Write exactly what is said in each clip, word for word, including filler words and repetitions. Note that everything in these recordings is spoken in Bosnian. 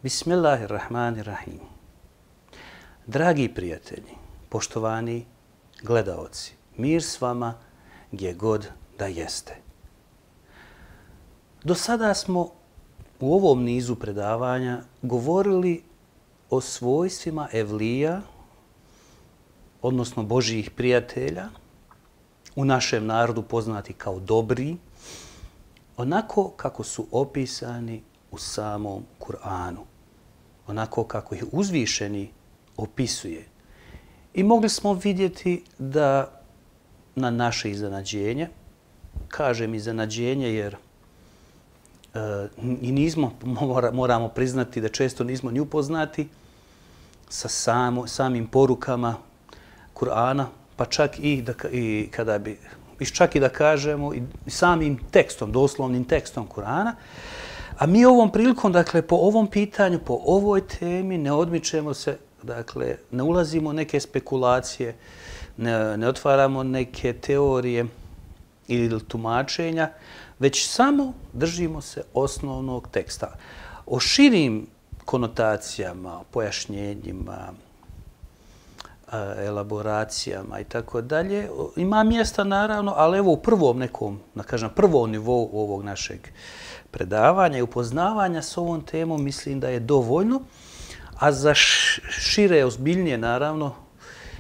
Bismillahirrahmanirrahim. Dragi prijatelji, poštovani gledaoci, mir s vama gdje god da jeste. Do sada smo u ovom nizu predavanja govorili o svojstvima evlija, odnosno Božjih prijatelja, u našem narodu poznati kao dobri, onako kako su opisani u samom Kur'anu, onako kako ih uzvišeni opisuje. I mogli smo vidjeti da na naše iznenađenje, kažem iznenađenje jer e, i nismo, mora, moramo priznati da često nismo ni upoznati sa samo, samim porukama Kur'ana, pa čak i, da, i kada bi, čak i da kažemo i samim tekstom, doslovnim tekstom Kur'ana. A mi ovom prilikom, dakle, po ovom pitanju, po ovoj temi ne odmičemo se, dakle, ne ulazimo u neke spekulacije, ne, ne otvaramo neke teorije ili tumačenja, već samo držimo se osnovnog teksta. O širim konotacijama, pojašnjenjima, elaboracijama i tako dalje ima mjesta naravno, ali evo u prvom nekom, da kažem, prvom nivou ovog našeg predavanja i upoznavanja s ovom temom mislim da je dovoljno, a za šire, ozbiljnije naravno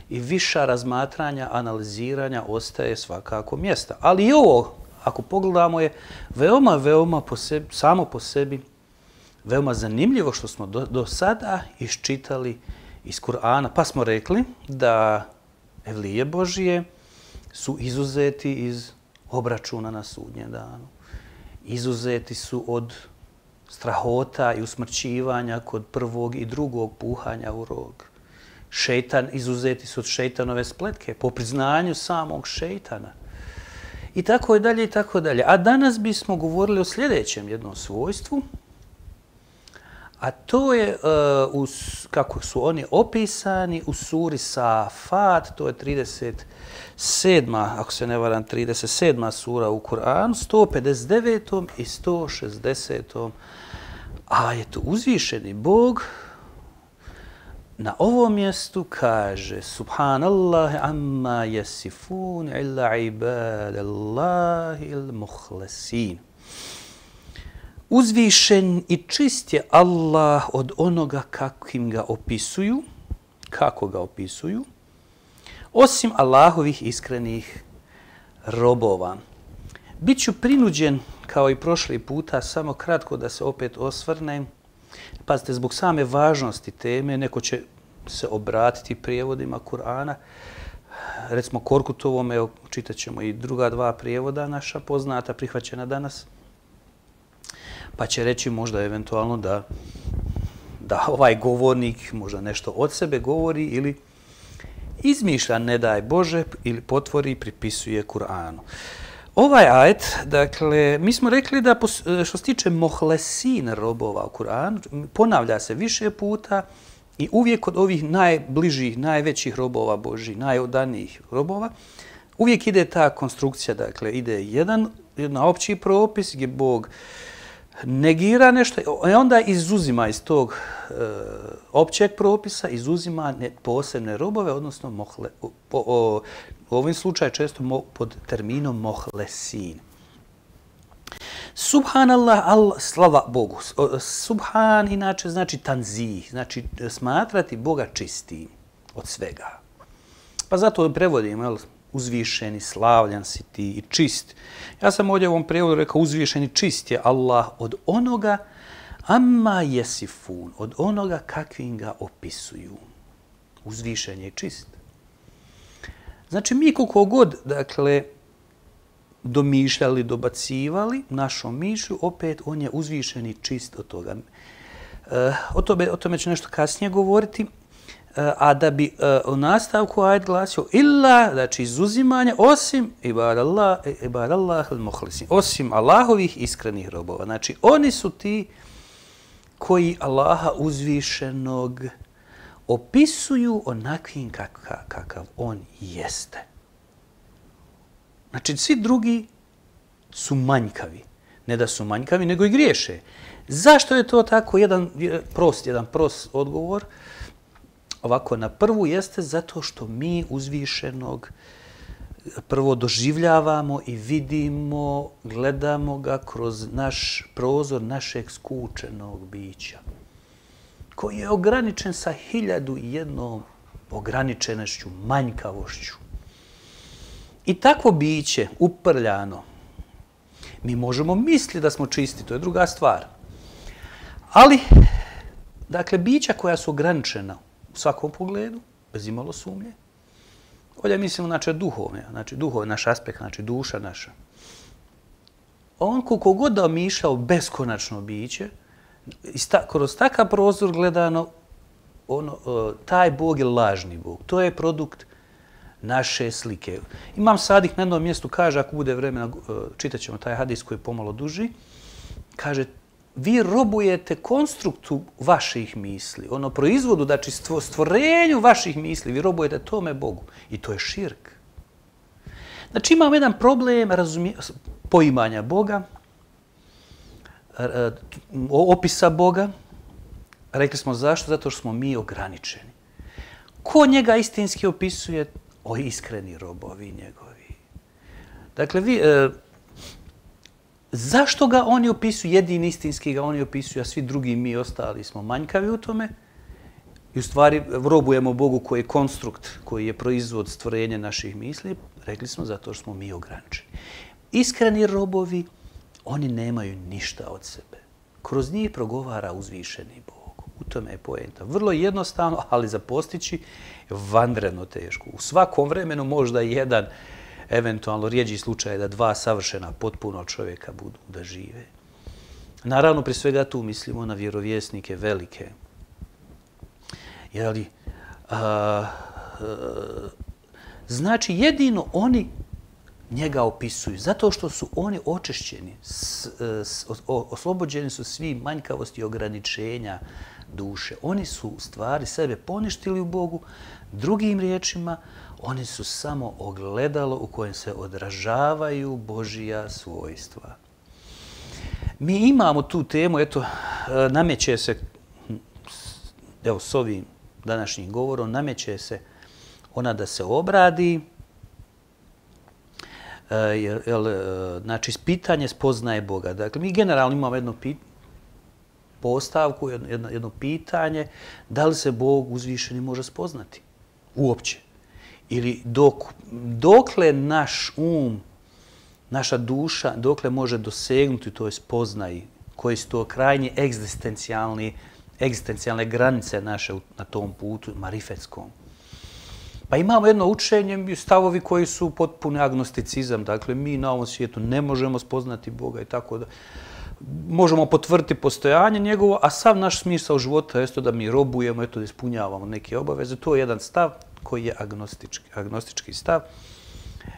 i viša razmatranja, analiziranja ostaje svakako mjesta. Ali i ovo, ako pogledamo, je veoma, veoma po sebi, samo po sebi veoma zanimljivo što smo do, do sada iščitali iz Kur'ana. Pa smo rekli da evlije Božije su izuzeti iz obračuna na sudnjem danu. Izuzeti su od strahota i usmrćivanja kod prvog i drugog puhanja u rog. Šejtan, izuzeti su od šejtanove spletke po priznanju samog šejtana. I tako je dalje i tako dalje. A danas bismo govorili o sljedećem jednom svojstvu, a to je, uh, uz, kako su oni opisani u suri Safat, to je trideset sedma, ako se ne varam, trideset sedma sura u Kur'anu, sto pedeset devetom i sto šezdesetom ajetu. Uzvišeni Bog na ovom mjestu kaže: Subhanallahi amma yasifun illa ibadallahi il-muhlasin. Uzvišen i čist je Allah od onoga kakvim ga opisuju, kako ga opisuju, osim Allahovih iskrenih robova. Biću prinuđen, kao i prošli puta, samo kratko da se opet osvrnem. Pazite, zbog same važnosti teme, neko će se obratiti prijevodima Kur'ana. Recimo Korkutovom, evo, čitat ćemo i druga dva prijevoda naša poznata, prihvaćena danas. Pa će reći možda eventualno da, da ovaj govornik možda nešto od sebe govori ili izmišlja, ne daj Bože, ili potvori i pripisuje Kur'anu. Ovaj ajet, dakle, mi smo rekli da što se tiče mohlesin robova u Kur'anu, ponavlja se više puta i uvijek od ovih najbližih, najvećih robova Božih, najodanijih robova, uvijek ide ta konstrukcija, dakle, ide jedan, jedan opći propis gdje Bog negira nešto i onda izuzima iz tog e, općeg propisa, izuzima ne, posebne robove, odnosno mohle, po, o, u ovim slučaju često mo, pod terminom mohlesin. Subhanallah, Allah, slava Bogu. Subhan inače znači tanzih, znači smatrati Boga čistim od svega. Pa zato prevodimo, jel, uzvišeni, slavljan si ti i čist. Ja sam ovdje u ovom prijevodu rekao uzvišeni, čist je Allah od onoga amma yasifun, od onoga kakvim ga opisuju. Uzvišen je i čist. Znači mi koliko god, dakle, domišljali, dobacivali našom mišlju, opet on je uzvišen i čist od toga. E, o, tome, o tome ću nešto kasnije govoriti. A da bi uh, u nastavku ajet glasio illa, znači izuzimanje, osim ibadallah, ibadallah al-mukhlisin, osim Allahovih iskrenih robova. Znači oni su ti koji Allaha uzvišenog opisuju onakvim kakav, kakav on jeste. Znači svi drugi su manjkavi. Ne da su manjkavi, nego i griješe. Zašto je to tako? Jedan prost, jedan prost odgovor. Ovako, na prvu jeste zato što mi uzvišenog prvo doživljavamo i vidimo, gledamo ga kroz naš prozor našeg skučenog bića, koji je ograničen sa hiljadu i jednom ograničenošću, manjkavošću. I takvo biće, uprljano, mi možemo misliti da smo čisti, to je druga stvar. Ali, dakle, bića koja su ograničena u svakom pogledu, bez imalo sumnje, ovdje mislimo, znači, duhovne, znači, duhovni naš aspekt, znači, duša naša. On, koliko god da omišljao beskonačno biće, kroz takav prozor gledano, ono, taj Bog je lažni Bog. To je produkt naše slike. Imam Sadik na jednom mjestu, kaže, ako bude vremena, čitat ćemo taj hadis koji je pomalo duži, kaže, vi robujete konstruktu vaših misli, ono proizvodu, znači stvorenju vaših misli, vi robujete tome Bogu. I to je širk. Znači imamo jedan problem razumije, poimanja Boga, opisa Boga. Rekli smo zašto? Zato što smo mi ograničeni. Ko njega istinski opisuje? O iskreni robovi njegovi. Dakle, vi... Zašto ga oni opisuju? Jedini istinski ga oni opisuju, a svi drugi mi ostali smo manjkavi u tome. I u stvari robujemo Bogu koji je konstrukt, koji je proizvod stvorenja naših misli. Rekli smo zato što smo mi ograničeni. Iskreni robovi, oni nemaju ništa od sebe. Kroz njih progovara uzvišeni Bog. U tome je poenta. Vrlo jednostavno, ali za postići vanredno teško. U svakom vremenu možda jedan eventualno rijeđi slučaj da dva savršena potpuno čovjeka budu da žive. Naravno, pri svega tu mislimo na vjerovjesnike velike. Jeli, a, a, znači, jedino oni njega opisuju, zato što su oni očišćeni, s, s, oslobođeni su svi manjkavosti i ograničenja duše. Oni su u stvari sebe poništili u Bogu, drugim riječima, oni su samo ogledalo u kojem se odražavaju Božija svojstva. Mi imamo tu temu, eto, nameće se, evo s ovim današnjim govorom, nameće se ona da se obradi, jer, jer, znači, pitanje spoznaje Boga. Dakle, mi generalno imamo jedno pitanje, postavku, jedno, jedno pitanje, da li se Bog uzvišeni može spoznati? Uopće. Ili dok, dokle naš um, naša duša, dokle može dosegnuti toj spoznaji, koji su to krajnji egzistencijalni, egzistencijalne granice naše na tom putu marifetskom. Pa imamo jedno učenje, stavovi koji su potpuni agnosticizam, dakle mi na ovom svijetu ne možemo spoznati Boga i tako da možemo potvrditi postojanje njegovo, a sav naš smisao života je da mi robujemo, eto da ispunjavamo neke obaveze. To je jedan stav koji je agnostički, agnostički stav,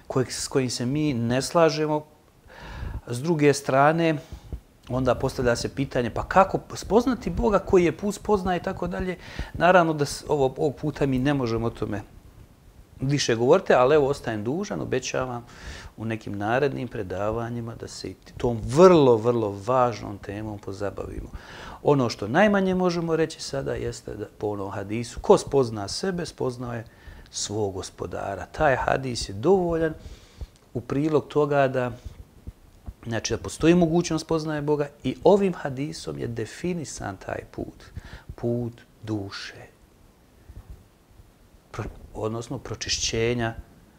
koji, s kojim se mi ne slažemo. S druge strane, onda postavlja se pitanje, pa kako spoznati Boga koji je put spoznaje i tako dalje. Naravno da ovo, ovog puta mi ne možemo o tome više govoriti, ali evo ostajem dužan, obećavam u nekim narednim predavanjima da se i tom vrlo, vrlo važnom temom pozabavimo. Ono što najmanje možemo reći sada jeste da po onom hadisu, ko spozna sebe, spoznao je svog gospodara. Taj hadis je dovoljan u prilog toga da, znači, da postoji mogućnost spoznaje Boga i ovim hadisom je definisan taj put, put duše, Pro, odnosno pročišćenja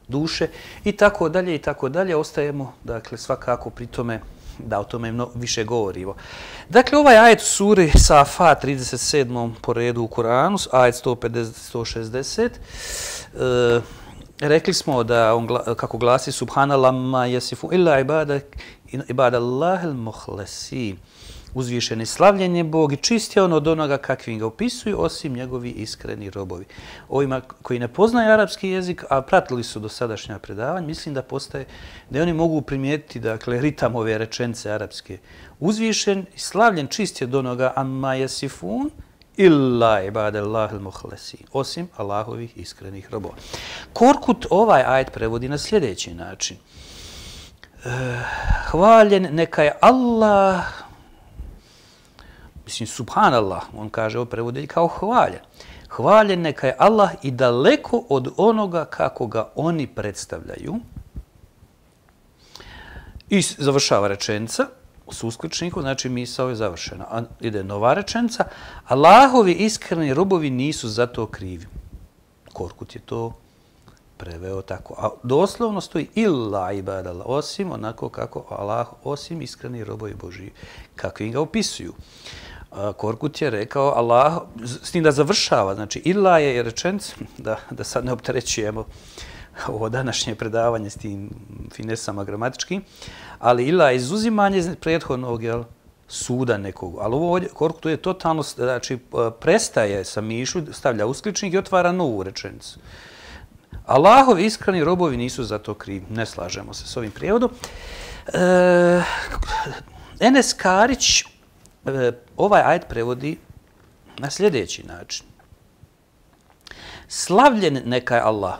duše i tako dalje i tako dalje. Ostajemo, dakle, svakako pri tome da o tome mno, više govorimo. Dakle, ovaj ajet u suri Safat, trideset sedmom po redu u Koranu, ajet sto pedeset do sto šezdeset, e, rekli smo da on, kako glasi Subhanallah ma yasifu illa ibadallahil muhlasi. Uzvišeni slavljen je Bog i čist je on od onoga kakvim ga opisuju, osim njegovi iskreni robovi. Ovima koji ne poznaju arapski jezik, a pratili su do sadašnja predavanja, mislim da postaje, da oni mogu primijetiti, dakle, ritam ove rečenice arapske. Uzvišen i slavljen čist je od onoga amma yasifun illa ibadallahil muhlasi, osim Allahovih iskrenih robova. Korkut ovaj ajet prevodi na sljedeći način. Hvaljen neka je Allah mislim, subhanallah, on kaže ovo prevodi kao hvaljen. Hvaljen neka je Allah i daleko od onoga kako ga oni predstavljaju. I završava rečenica s uskličnikom, znači misao je završena. A ide nova rečenica. Allahovi iskreni robovi nisu za to krivi. Korkut je to preveo tako. A doslovno stoji illa ibadallah, osim onako kako Allah, osim iskreni robovi Božji, kako im ga opisuju. Korkut je rekao Allah, s tim da završava, znači illa je rečenica, da, da sad ne opterećujemo ovo današnje predavanje s tim finesama gramatičkim, ali illa je izuzimanje prethodnog, jel, suda nekog. Ali ovo ovdje, Korkut je totalno, znači, prestaje sa mišlju, stavlja uskličnik i otvara novu rečenicu. Allahovi iskreni robovi nisu za to krivi. Ne slažemo se s ovim prijevodom. E, Enes Karić e, ovaj ajet prevodi na sljedeći način. Slavljen neka je Allah.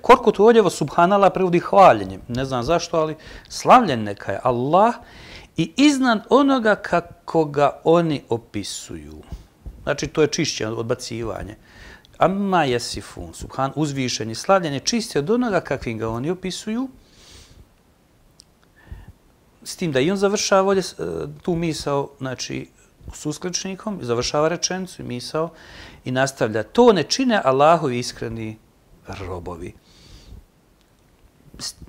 Korkut ovdje subhanallah prevodi hvaljenjem. Ne znam zašto, ali slavljen neka je Allah i iznad onoga kako ga oni opisuju. Znači, to je čišće odbacivanje. Amma jesifun, subhan, uzvišen i slavljen je čisti od onoga kakvim ga oni opisuju. S tim da i on završava ovdje tu misao, znači, s uskličnikom, završava rečenicu i misao i nastavlja. To ne čine Allahovi iskreni robovi.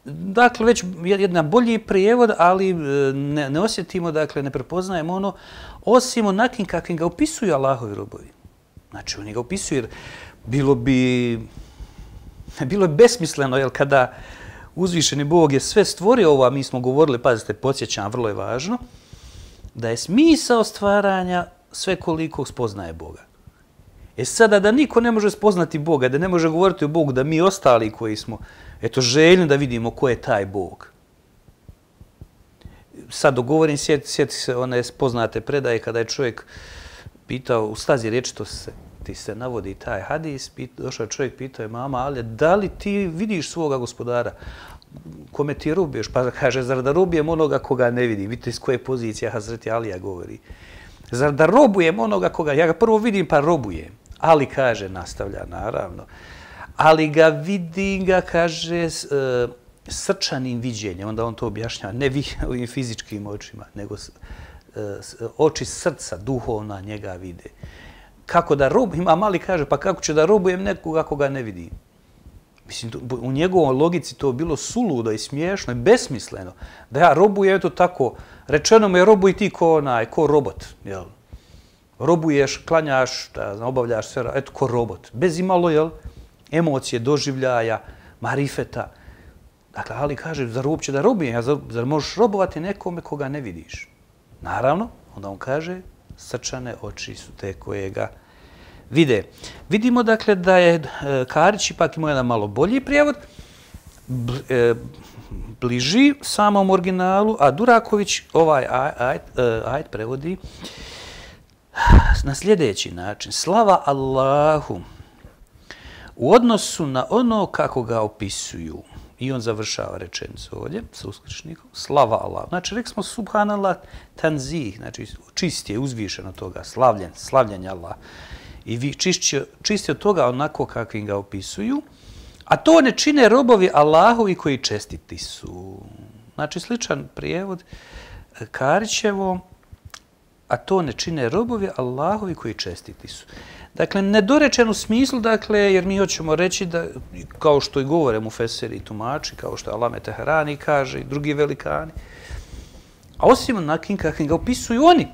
Dakle, već jedan bolji prijevod, ali ne, ne osjetimo, dakle, ne prepoznajemo ono, osim onakim kakvim ga opisuju Allahovi robovi. Znači, oni ga opisuju jer bilo bi, bilo je besmisleno, jer kada uzvišeni Bog je sve stvorio ovo, a mi smo govorili, pazite, podsjećam, vrlo je važno, da je smisao stvaranja sve koliko spoznaje Boga. E sada da niko ne može spoznati Boga, da ne može govoriti o Bogu, da mi ostali koji smo, eto, željni da vidimo ko je taj Bog. Sad dogovorim, sjeti, sjeti se one poznate predaje kada je čovjek pitao, u stazi riječi to se, ti se navodi taj hadis, pit, došao čovjek, pitao je mama, ali da li ti vidiš svoga gospodara? Kome ti robuješ? Pa kaže, zar da robujem onoga koga ne vidim? Vidite iz koje pozicije Hazreti Alija govori. Zar da robujem onoga koga, ja ga prvo vidim pa robujem. Ali, kaže, nastavlja, naravno, ali ga vidim, ga, kaže, s, e, srčanim viđenjem. Onda on to objašnjava, ne vi, ovim fizičkim očima, nego s, e, s, oči srca, duhovna njega vide. Kako da robujem, a mali kaže, pa kako ću da robujem nekoga koga ne vidim? Mislim, u njegovoj logici to bilo suludo i smiješno i besmisleno. Da ja robujem, eto tako, rečeno me robuj ti ko onaj, ko robot, jel? Robuješ, klanjaš, da, obavljaš sve, eto, ko robot. Bez imalo, jel, emocije, doživljaja, marifeta. Dakle, ali kaže, zar uopće da robujem, zar, zar možeš robovati nekome koga ne vidiš? Naravno, onda on kaže, srčane oči su te koje ga vide. Vidimo, dakle, da je e, Karić ipak imao jedan malo bolji prijevod, bl, e, bliži samom originalu, a Duraković ovaj ajet, ajet prevodi na sljedeći način. Slava Allahu u odnosu na ono kako ga opisuju. I on završava rečenicu ovdje sa uskličnikom. Slava Allahu. Znači, rekli smo subhanallah tanzih, znači čist je, uzvišen od toga, slavljen, slavljen je Allah. I vi čisti, čisti od toga onako kakvim ga opisuju. A to ne čine robovi Allahovi koji čestiti su. Znači, sličan prijevod Karićevo, a to ne čine robovi Allahovi koji čestiti su. Dakle, nedorečen u smislu, dakle, jer mi hoćemo reći da, kao što i govore mufesiri i tumači, kao što Alame Teherani kaže i drugi velikani, a osim onakim kakvim ga opisuju oni,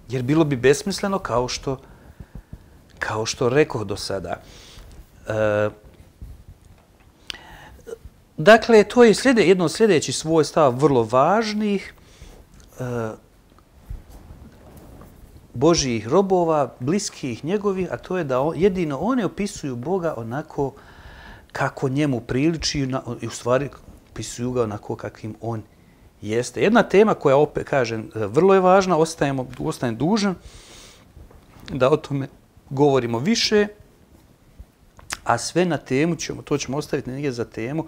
jer bilo bi besmisleno kao što, kao što rekoh do sada. E, dakle, to je slijede, jedno od sljedećih svojstava vrlo važnih, e, Božjih robova, bliskih njegovih, a to je da on, jedino oni opisuju Boga onako kako njemu priliči i u stvari opisuju ga onako kakvim on jeste. Jedna tema koja, opet kažem, vrlo je važna, ostajemo, ostajem dužan da o tome govorimo više, a sve na temu ćemo, to ćemo ostaviti negdje za temu,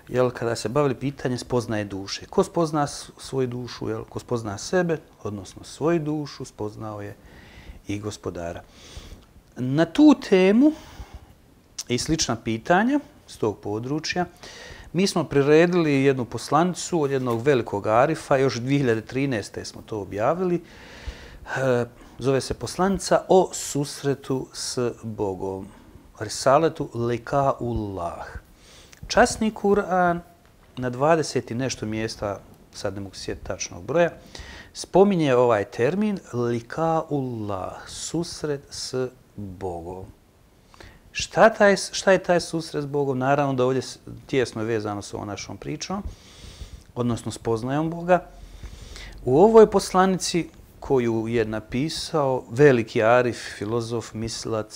jel, kada se bavili pitanje spoznaje duše. Ko spozna svoju dušu, jel, ko spozna sebe, odnosno svoju dušu, spoznao je i gospodara. Na tu temu i slična pitanja s tog područja mi smo priredili jednu poslanicu od jednog velikog arifa, još dvije hiljade trinaeste. smo to objavili. Zove se poslanica o susretu s Bogom. Risaletu Likaullah. Časni Kur'an na dvadeset i nešto mjesta, sad ne mogu sjetiti tačnog broja, spominje ovaj termin Likaullah, susret s Bogom. Šta, taj, šta je taj susret s Bogom? Naravno da ovdje tijesno je vezano s ovom našom pričom, odnosno spoznajom Boga. U ovoj poslanici koju je napisao veliki arif, filozof, mislilac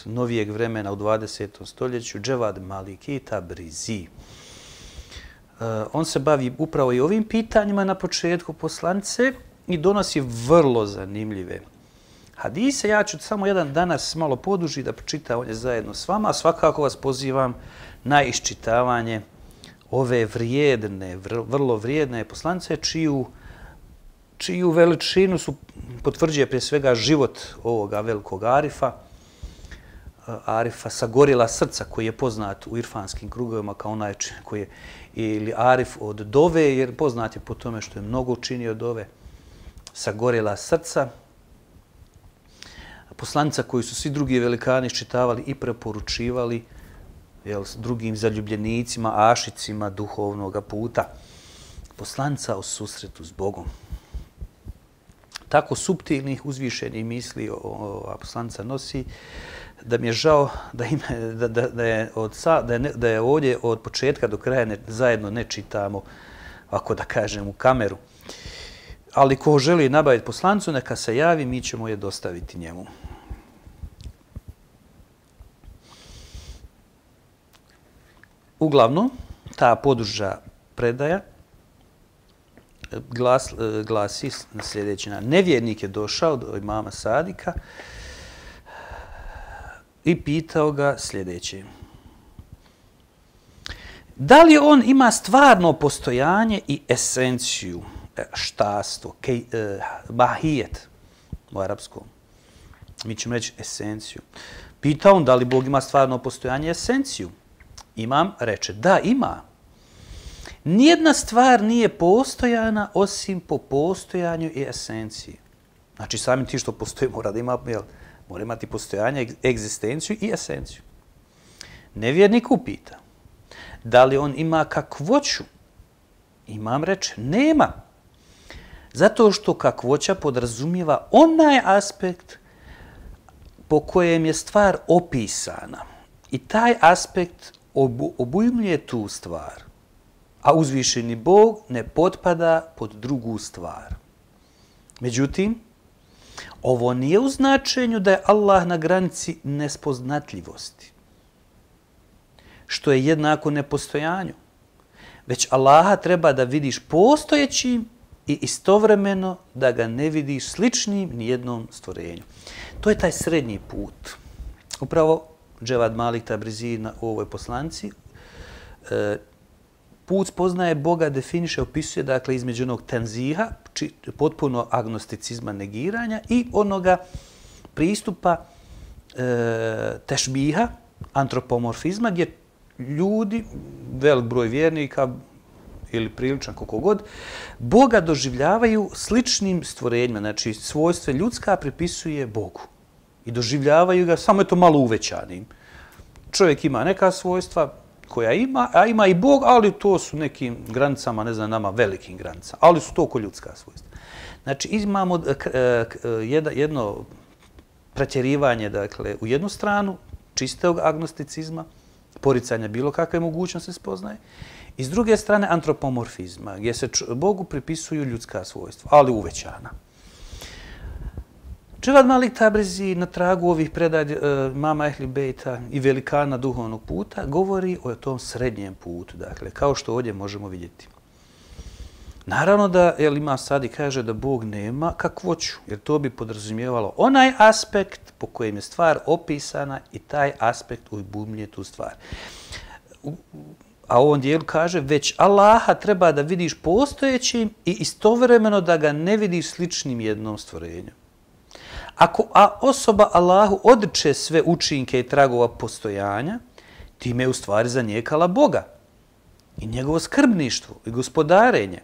novijeg vremena u dvadesetom stoljeću, Dževad Maliki Tabrizi. Uh, on se bavi upravo i ovim pitanjima na početku poslanice i donosi vrlo zanimljive hadise. Ja ću samo jedan danas malo poduži da pročitam ovdje zajedno s vama, a svakako vas pozivam na iščitavanje ove vrijedne, vrlo vrijedne poslanice, čiju čiju veličinu su potvrđuje prije svega život ovoga velikog arifa, arifa sagorjela srca, koji je poznat u irfanskim krugovima kao onaj koji je, ili arif od dove, jer poznat je po tome što je mnogo učinio dove, sagorjela srca. Poslanica koju su svi drugi velikani iščitavali i preporučivali, jel, s drugim zaljubljenicima, ašicima duhovnog puta. Poslanica o susretu s Bogom. Tako suptilnih, uzvišenih misli ova poslanica nosi, da mi je žao da, ima, da, da, da, je, od, da, je, da je ovdje od početka do kraja ne, zajedno ne čitamo, ako da kažem, u kameru. Ali ko želi nabaviti poslanicu, neka se javi, mi ćemo je dostaviti njemu. Uglavnom, ta poduža predaja Glas, glasi na sljedeći način. Nevjernik je došao do imama Sadika i pitao ga sljedeće. Da li on ima stvarno postojanje i esenciju, štastvo, kej, eh, mahijet u arapskom? Mi ćemo reći esenciju. Pitao on da li Bog ima stvarno postojanje i esenciju. Imam reče, da, ima. Nijedna stvar nije postojana osim po postojanju i esenciji. Znači, samim ti što postoji mora da ima, jel, mora imati postojanje, egzistenciju i esenciju. Nevjernik upita, da li on ima kakvoću? Imam reče, nema. Zato što kakvoća podrazumijeva onaj aspekt po kojem je stvar opisana. I taj aspekt obu, obujmljuje tu stvar. A uzvišeni Bog ne potpada pod drugu stvar. Međutim, ovo nije u značenju da je Allah na granici nespoznatljivosti, što je jednako nepostojanju. Već Allaha treba da vidiš postojećim i istovremeno da ga ne vidiš sličnim nijednom stvorenju. To je taj srednji put. Upravo Dževad Malik Tabrizi u ovoj poslanici e, put spoznaje Boga definiše, opisuje, dakle, između onog tenziha, či, potpuno agnosticizma, negiranja, i onoga pristupa e, tešbiha, antropomorfizma, gdje ljudi, velik broj vjernika ili priličan koliko god, Boga doživljavaju sličnim stvorenjima. Znači, svojstvo ljudska pripisuje Bogu i doživljavaju ga samo je to malo uvećanim. Čovjek ima neka svojstva koja ima, a ima i Bog, ali to su nekim granicama, ne znam, nama velikim granicama, ali su to oko ljudska svojstva. Znači, imamo jedno pretjerivanje, dakle, u jednu stranu čistog agnosticizma, poricanja bilo kakve mogućnosti spoznaje, i s druge strane antropomorfizma, gdje se Bogu pripisuju ljudska svojstva, ali uvećana. Dževad Malik Tabrizi na tragu ovih predaja mama Ehli Bejta i velikana duhovnog puta govori o tom srednjem putu, dakle, kao što ovdje možemo vidjeti. Naravno da El Imam Sadi kaže da Bog nema kakvoću, jer to bi podrazumijevalo onaj aspekt po kojem je stvar opisana i taj aspekt ujbumlje tu stvar. A u ovom dijelu kaže, već Allaha treba da vidiš postojećim i istovremeno da ga ne vidiš sličnim jednom stvorenju. Ako a osoba Allahu odriče sve učinke i tragova postojanja, time je u stvari zanijekala Boga i njegovo skrbništvo i gospodarenje,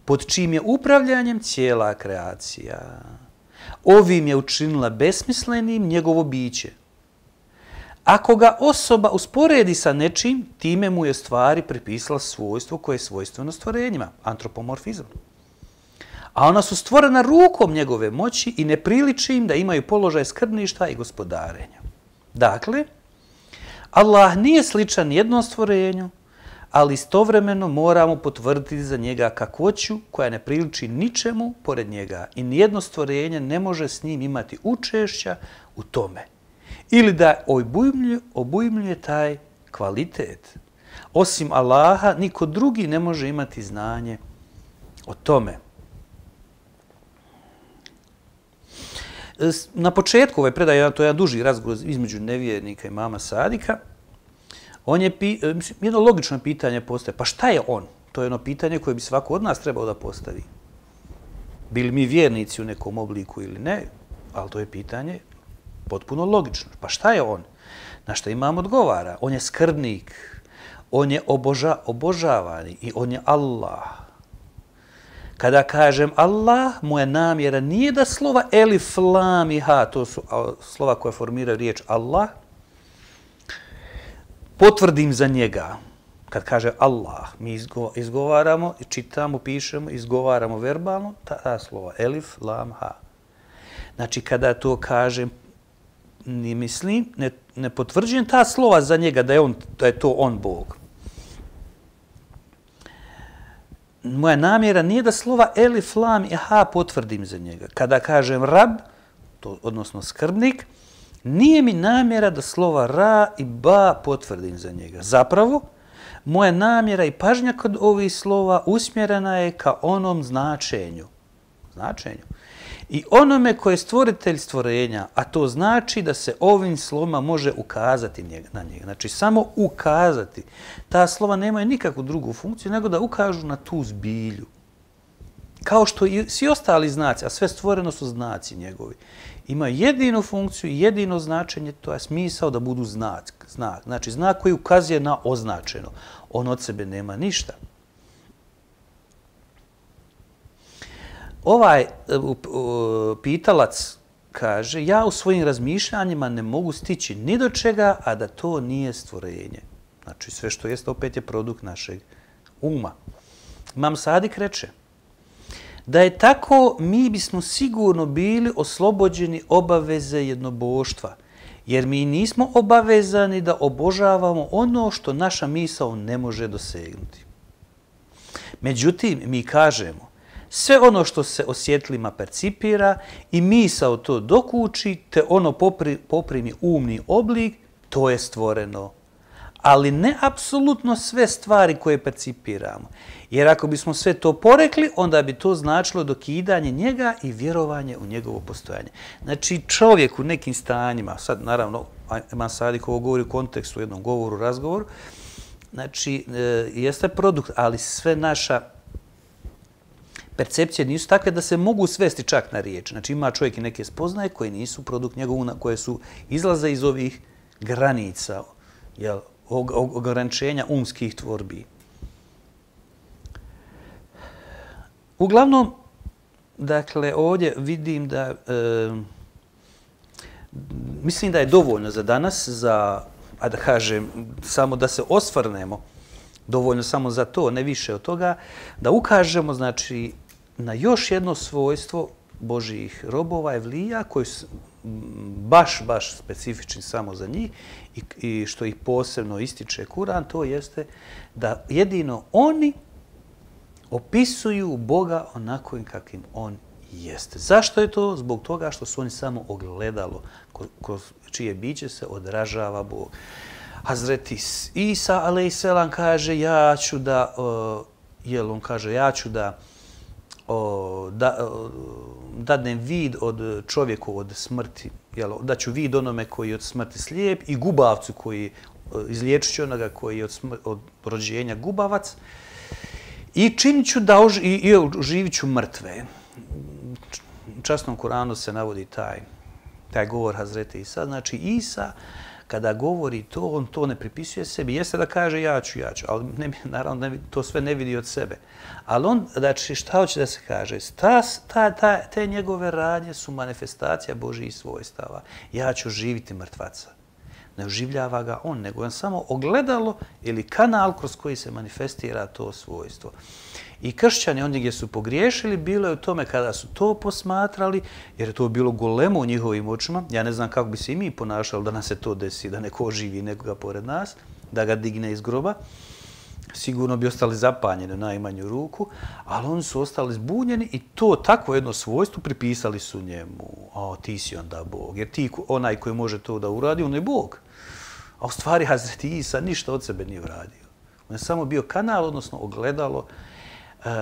pod čim je upravljanjem cijela kreacija. Ovim je učinila besmislenim njegovo biće. Ako ga osoba usporedi sa nečim, time mu je stvari pripisala svojstvo koje je svojstveno stvorenjima, antropomorfizam. A ona su stvorena rukom njegove moći i ne priliči im da imaju položaj skrbništva i gospodarenja. Dakle, Allah nije sličan jednom stvorenju, ali istovremeno moramo potvrditi za njega kakvoću koja ne priliči ničemu pored njega i nijedno stvorenje ne može s njim imati učešća u tome. Ili da obujmljuje, obujmljuje taj kvalitet. Osim Allaha, niko drugi ne može imati znanje o tome. Na početku ove predaje, to je jedan duži razgovor između nevjernika i imama Sadika, on je, jedno logično pitanje postaje, pa šta je on? To je jedno pitanje koje bi svako od nas trebao da postavi. Bili mi vjernici u nekom obliku ili ne, ali to je pitanje potpuno logično. Pa šta je on? Na što imam odgovara? On je skrbnik, on je oboža, obožavani i on je Allah. Kada kažem Allah, moja namjera nije da slova elif, lam i ha, to su slova koje formiraju riječ Allah, potvrdim za njega. Kad kaže Allah, mi izgovaramo, čitamo, pišemo, izgovaramo verbalno, ta, ta slova elif, lam, ha. Znači, kada to kažem, ni mislim, ne, ne potvrđujem ta slova za njega da je, on, da je to on Bog. Moja namjera nije da slova elif, lam i ha potvrdim za njega. Kada kažem rab, to, odnosno skrbnik, nije mi namjera da slova ra i ba potvrdim za njega. Zapravo, moja namjera i pažnja kod ovih slova usmjerena je ka onom značenju. Značenju. I onome koje je stvoritelj stvorenja, a to znači da se ovim slovima može ukazati na njega. Znači, samo ukazati. Ta slova nemaju nikakvu drugu funkciju, nego da ukažu na tu zbilju. Kao što i svi ostali znaci, a sve stvoreno su znaci njegovi, imaju jedinu funkciju i jedino značenje, to je smisao da budu znak. znak. Znači, znak koji ukazuje na označeno. On od sebe nema ništa. Ovaj pitalac kaže, ja u svojim razmišljanjima ne mogu stići ni do čega, a da to nije stvorenje. Znači, sve što jeste opet je produkt našeg uma. Imam Sadik reče, da je tako, mi bismo sigurno bili oslobođeni obaveze jednoboštva, jer mi nismo obavezani da obožavamo ono što naša misao ne može dosegnuti. Međutim, mi kažemo, sve ono što se osjetlima percipira i misao to dokuči, te ono popri, poprimi umni oblik, to je stvoreno. Ali ne apsolutno sve stvari koje percipiramo. Jer ako bismo sve to porekli, onda bi to značilo dokidanje njega i vjerovanje u njegovo postojanje. Znači, čovjek u nekim stanjima, sad naravno, Imam Sadik ovo govori u kontekstu, u jednom govoru, razgovoru, znači, jeste produkt, ali sve naša percepcije nisu takve da se mogu svesti čak na riječ. Znači, ima čovjek i neke spoznaje koje nisu produkt njegovu, koje su izlaze iz ovih granica, jel, ograničenja umskih tvorbi. Uglavnom, dakle, ovdje vidim da, e, mislim da je dovoljno za danas, za, a da kažem, samo da se osvrnemo, dovoljno samo za to, ne više od toga, da ukažemo, znači, na još jedno svojstvo Božjih robova, evlija, koji su baš, baš specifični samo za njih i, i što ih posebno ističe Kur'an, to jeste da jedino oni opisuju Boga onako kakvim on jeste. Zašto je to? Zbog toga što su oni samo ogledalo kroz čije biće se odražava Bog. Hazreti Isa, alejselam, kaže, ja ću da, uh, jel, on kaže, ja ću da, uh, da uh, dadnem vid od čovjeku od smrti, jel, da ću vid onome koji je od smrti slijep i gubavcu koji, uh, izliječit ću onoga koji je od, smr od rođenja gubavac i činit ću da ož i, i oživit ću mrtve. u časnom Kuranu se navodi taj, taj govor Hazreti Isa. Znači Isa kada govori to, on to ne pripisuje sebi. Jeste da kaže ja ću, ja ću, ali ne, naravno ne, to sve ne vidi od sebe. Ali on, znači šta hoće da se kaže? Ta, ta, ta, te njegove radnje su manifestacija Božjih svojstava. Ja ću živiti mrtvaca. Ne oživljava ga on, nego on samo ogledalo ili kanal kroz koji se manifestira to svojstvo. I kršćani, oni gdje su pogriješili, bilo je u tome kada su to posmatrali, jer je to bilo golemo u njihovim očima. Ja ne znam kako bi se i mi ponašali da nas se to desi, da neko oživi nekoga pored nas, da ga digne iz groba. Sigurno bi ostali zapanjeni u najmanju ruku, ali oni su ostali zbunjeni i to takvo jedno svojstvo pripisali su njemu. O, ti si onda Bog, jer ti onaj koji može to da uradi, on je Bog. A u stvari Hazreti Isa ništa od sebe nije uradio. On je samo bio kanal, odnosno ogledalo uh,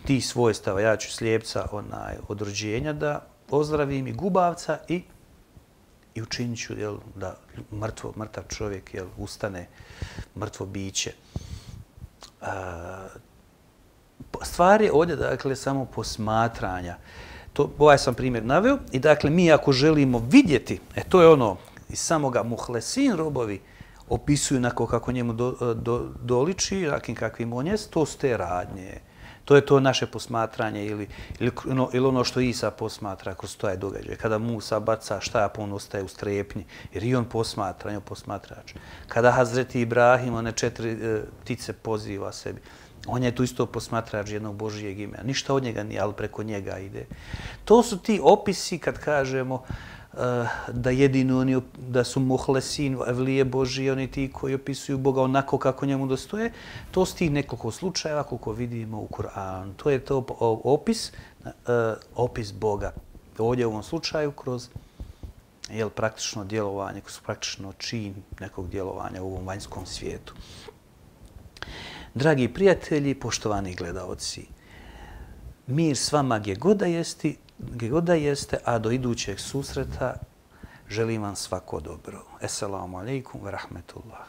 tih svojstava. Ja ću slijepca onaj, od rođenja da ozdravim i gubavca i, i učinit ću jel, da mrtvo, mrtav čovjek jel, ustane, mrtvo biće. Uh, stvar je ovdje dakle, samo posmatranja. To, ovaj sam primjer naveo i dakle mi ako želimo vidjeti, e to je ono iz samoga muhlesin robovi opisuju onako kako njemu do, do, doliči, rakim kakvim on je, to su te radnje. To je to naše posmatranje ili, ili, ono, ili ono što Isa posmatra kroz taj događaj. Kada Musa baca štap, on ostaje u strepnji, jer i on posmatra, on je posmatrač. Kada Hazreti Ibrahim, one četiri e, ptice poziva sebi, on je tu isto posmatrač jednog Božijeg imena. Ništa od njega nije, ali preko njega ide. To su ti opisi kad kažemo da jedino oni, da su muhlesin, evlije Božije, oni ti koji opisuju Boga onako kako njemu dostoje, to su tih nekoliko slučajeva koliko vidimo u Kur'anu. To je to opis, opis Boga. Ovdje u ovom slučaju kroz jel, praktično djelovanje, kroz praktično čin nekog djelovanja u ovom vanjskom svijetu. Dragi prijatelji, poštovani gledaoci, mir s vama gdje god da jeste, gdje god da jeste, a do idućeg susreta želim vam svako dobro. Esselamu alaikum wa rahmetullah.